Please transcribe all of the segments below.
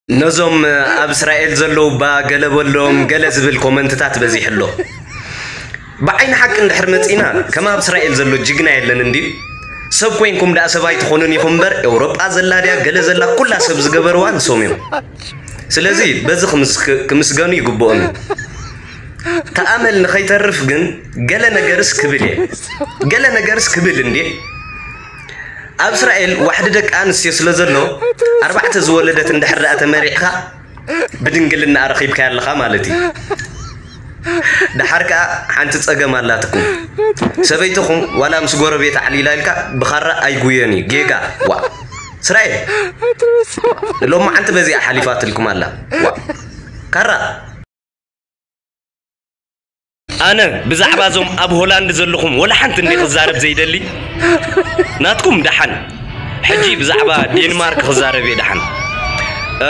ነዞም ኣብ እስራኤል ዘለዉ እባ ገለ በሎም ገለ ዝብል ኮመንትታት በዚሑ ኣሎ። ብዓይኒ ሓቂ እንድሕር መጺና፣ ከም ኣብ እስራኤል ዘሎ ጅግና የለን እንድዩ። ሰብ ኮይንኩም ደኣ ሰብ ኣይትኾኑን ኢኹም እምበር፣ ኤውሮጳ ዘላ ድያ ገለ ዘላ ኩላ ሰብ ዝገበርዋ ንሶም እዮም። ስለዚ በዚ ክምስ-፣ ክምስገኑ ይግብኦም እዩ። ተኣመል ንኸይተርፍ ግን ገለ ነገርስ ክብል እየ። ገለ ነገርስ ክብል እንዴ? ኣብ እስራኤል ዋሕዲ ደቂ ኣንስትዮ ስለ ዘሎ፣ ኣርባዕተ ዝወለደት እንድሕር ደኣ ተመሪዕኻ፣ ብድንግልና ረኺብካያ ኣለኻ ማለት እዩ። ደሓር ከኣ ሓንቲ ጸገም ኣላትኩም። ሰበይትኹም ዋላ ምስ ጎረቤት ዓሊላ ኢልካ ብኻራ ኣይጉየን እዩ። ጌጋ። ዋ። እስራኤል። ሎማዓንቲ በዚኣ ሓሊፋትልኩም ኣላ። ዋ። ካራ። ኣነ ብዛዕባ እዞም ኣብ ሆላንድ ዘለኹም ወላ ሓንቲ እንዲ ክዛረብ ዘይደሊ። ናትኩም ደሓን። ሕጂ ብዛዕባ ዴንማርክ ክዛረብ እየ ደሓን። እ፣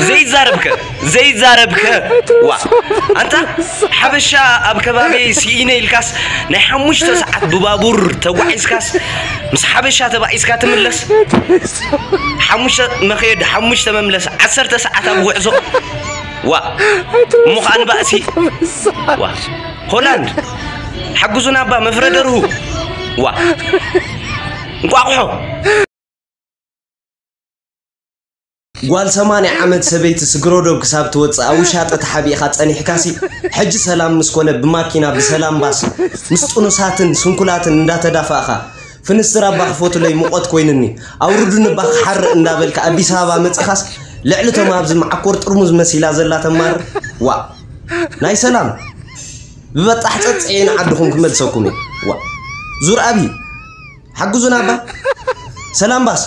ዘይዛረብከ፣ ዘይዛረብከ። ዋ፣ ኣንታ ሓበሻ ኣብ ከባቢ ስኢነ ኢልካስ ናይ ሓሙሽተ ሰዓት ብባቡር ተጓዒዝካስ ምስ ሓበሻ ተባኢስካ ትምለስ። ሓሙሽተ መኸየድ፣ ሓሙሽተ መምለስ፣ ዓሰርተ ሰዓት ኣብ ጉዕዞ። ዋ፣ እሞ ኸኣ ንባእሲ። ዋ፣ ሆላንድ፣ ሓግዙና እባ መፍረ ደርሁ። ዋ፣ እንቋቑሖ። ጓል ሰማንያ ዓመት ሰበይቲ ስግረ ዶብ ክሳብ ትወጽእ ኣብ ውሻጠ ተሓቢእኻ ጸኒሕካሲ፣ ሕጂ ሰላም ምስ ኮነ ብማኪና ብሰላም ባስ ምስ ጥኑሳትን ስንኩላትን እንዳተዳፋእኻ፣ ፍንስትር ኣባ ክፈቱለይ ሙቐት ኮይኑኒ፣ ኣውርዱኒ እባ ክሓርእ እንዳበልካ ኣዲስ ኣበባ መጺኻስ፣ ልዕሊ እቶም ኣብዚ መዓኮር ጥርሙዝ መሲላ ዘላ ተማርር። ዋ፣ ናይ ሰላም ብበጣሕ ጸጽዒ ንዓድኹም ክመልሰኩም እዩ። ዋ፣ ዙር ኣብይ ሓግዙና እባ። ሰላም ባስ።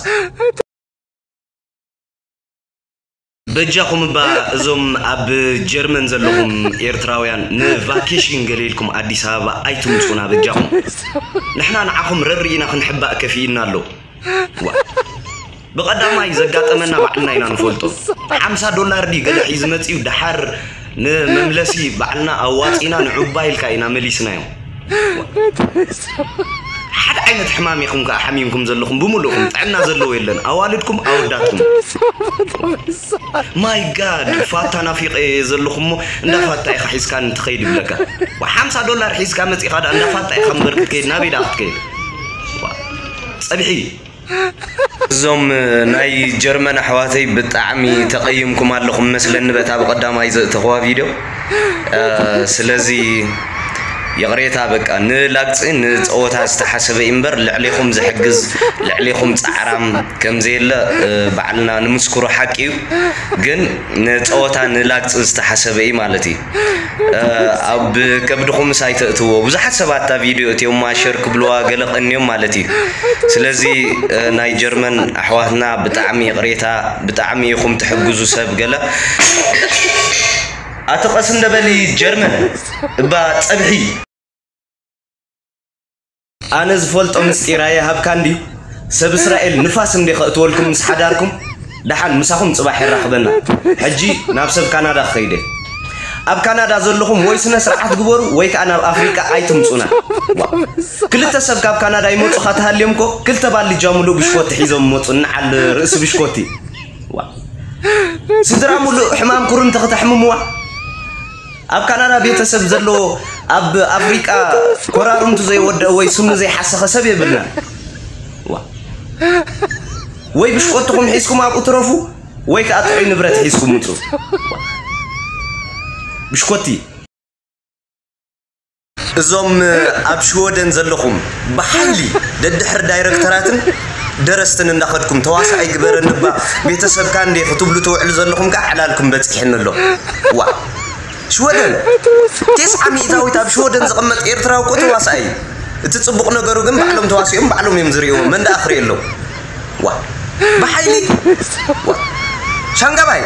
በጃኹም እባ እዞም ኣብ ጀርመን ዘለኹም ኤርትራውያን ንቫኬሽን ገለ ኢልኩም ኣዲስ ኣበባ ኣይትምጹና በጃኹም። ንሕና ንዓኹም ረር ኢና ክንሕባእ ከፊእና ኣሎ። ዋ። ብቐዳማይ ዘጋጠመና ባዕልና ኢና ንፈልጦ። ሓምሳ ዶላር ድዩ ገለ ሒዙ መጺኡ፣ ደሓር ንመምለሲ ባዕልና ኣዋጺና ንዑባ ኢልካ ኢና መሊስናዮ። ሓደ ዓይነት ሕማም ኢኹም ከኣ ሓሚምኩም ዘለኹም ብምሉእኹም፣ ጥዕና ዘለዎ የለን፣ ኣዋልድኩም ኣወዳትኩም። ማይ ጋድ፣ ፋታ ናፊቐ እየ ዘለኹ እሞ እንዳ ፋታ ኢኻ ሒዝካኒ ትኸይድ ይብለካ። ሓምሳ ዶላር ሒዝካ መጺኻ ደኣ እንዳ ፋታ ኢኻ እምበር ክትከይድ፣ ናበይ ደኣ ክትከይድ? ጸብሒ። እዞም ናይ ጀርመን ኣሕዋተይ ብጣዕሚ ተቐይምኩም ኣለኹም መስለኒ በታ ብቐዳማይ ዘእተኽዋ ቪድዮ። እ፣ ስለዚ ይቕሬታ በቃ ንላግጺ ንጸወታ ዝተሓሰበ እዩ እምበር ልዕሌኹም ዝሕግዝ ልዕሌኹም ጻዕራም ከም ዘየለ፣ እ፣ ባዕልና ንምስክሮ ሓቂ እዩ። ግን ንጸወታ ንላግጺ ዝተሓሰበ እዩ ማለት እዩ። እ፣ ኣብ ከብድኹምስ ኣይተእትዎ። ብዙሓት ሰባት እታ ቪድዮ እትዮማ ሸር ክብልዋ ገለ ቀንዮም ማለት እዩ። ስለዚ፣ እ፣ ናይ ጀርመን ኣሕዋትና ብጣዕሚ ይቕሬታ፣ ብጣዕሚ ኢኹም ትሕግዙ ሰብ ገለ። ኣቲ ቀስ እንደበሊ ጀርመን እባ ጸብሒ። ኣነ ዝፈልጦ ምስጢር ኣይሃብካ እንድዩ። ሰብ እስራኤል ንፋስ እንዴ ከእትወልኩም ምስ ሓዳርኩም፣ ደሓን ምሳኹም ጽባሕ የራኽበና። ሕጂ ናብ ሰብ ካናዳ ክኸይደ። ኣብ ካናዳ ዘለኹም ወይ ስነ ስርዓት ግበሩ ወይ ከኣ ናብ ኣፍሪቃ ኣይትምጹና። ክልተ ሰብ ካብ ካናዳ ይመጹኻ ተሃልዮም እኮ ክልተ ባሊ ጃ ሙሉእ ብሽኮቲ ሒዞም ይመጹ፣ ንዓል ርእሲ ብሽኮቲ። ዋ። ስድራ ሙሉእ ሕማም ኩርምቲ ክተሕምምዋ። ኣብ ካናዳ ቤተሰብ ዘለዎ ኣብ ኣፍሪቃ ኮራርምቱ ዘይወደአ ወይ ስኑ ዘይሓሰኸ ሰብ የብልና። ዋ። ወይ ብሽኮትኹም ሒዝኩም ኣብኡ ትረፉ፣ ወይ ከኣ ጥዑይ ንብረት ሒዝኩም ውጹ። ብሽኮቲ። እዞም ኣብ ሽወደን ዘለኹም ብሓይሊ ደድሕር ዳይረክተራትን ደረስትን እንዳኸድኩም ተዋሳኣይ ግበረኒ እባ ቤተሰብካ እንዴ ክትብሉ ትውዕሉ ዘለኹም ከኣ ዕላልኩም በጺሕኒ ኣሎ። ዋ። ሽወደን ተስዓ ሚእታዊት ኣብ ሽወደን ዝቕመጥ ኤርትራዊ እኮ ተዋሳኣይ እዩ። እቲ ጽቡቕ ነገሩ ግን ባዕሎም ተዋሲኦም ባዕሎም እዮም ዝርእይዎ። መን ደኣ ክርእየሎም? ዋ። ብሓይሊ። ዋ። ሻንጋባይ።